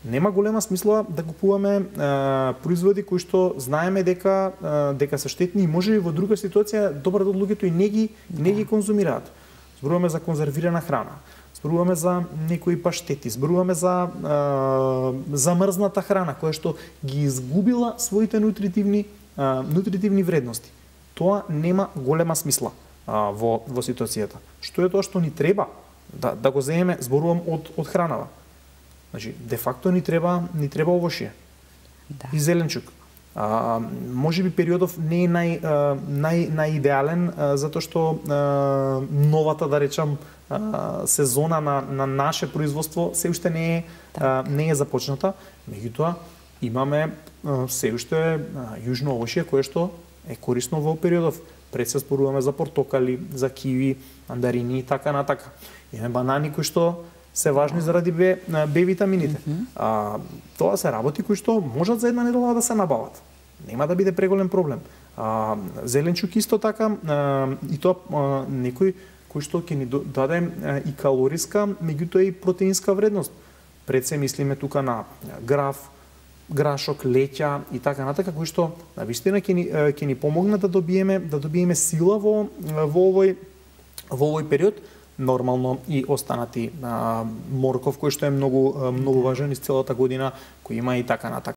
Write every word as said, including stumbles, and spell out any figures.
Нема голема смисла да купуваме а, производи кои што знаеме дека а, дека се штетни и може и во друга ситуација добар дел луѓето и не ги да. не ги конзумираат. Зборуваме за конзервирана храна, зборуваме за некои паштети, зборуваме за а, замрзната храна која што ги изгубила своите нутритивни а, нутритивни вредности. Тоа нема голема смисла а, во во ситуацијата. Што е тоа што ни треба да да го земеме, зборувам од од хранава. Значи, де факто ни треба ни треба овошје. Да. И зеленчук. А, може би периодов не е нај нај најидеален затоа што а, новата, да речам, а, сезона на на наше производство се уште не е а, не е започната, меѓутоа имаме а, се уште а, јужно овошје кое што е корисно во периодов. Пред се зборуваме за портокали, за киви, мандарини и така натака. Имаме банани кои што се важни заради Б, Б витамините. Mm -hmm. а, тоа се работи кои што можат за една недела да се набават. Нема да биде преголем проблем. А, зеленчук исто така, а, и тоа а, некој кој што ќе ни даде а, и калориска, меѓутоа и протеинска вредност. Пред се мислиме тука на граф, грашок, леќа и така натака, кои што на вистина ќе ни ќе ни помогнат да добиеме да добиеме сила во во овој во овој период. Нормално и останати а, морков кој што е многу многу важен из целата година, кој има и така натака.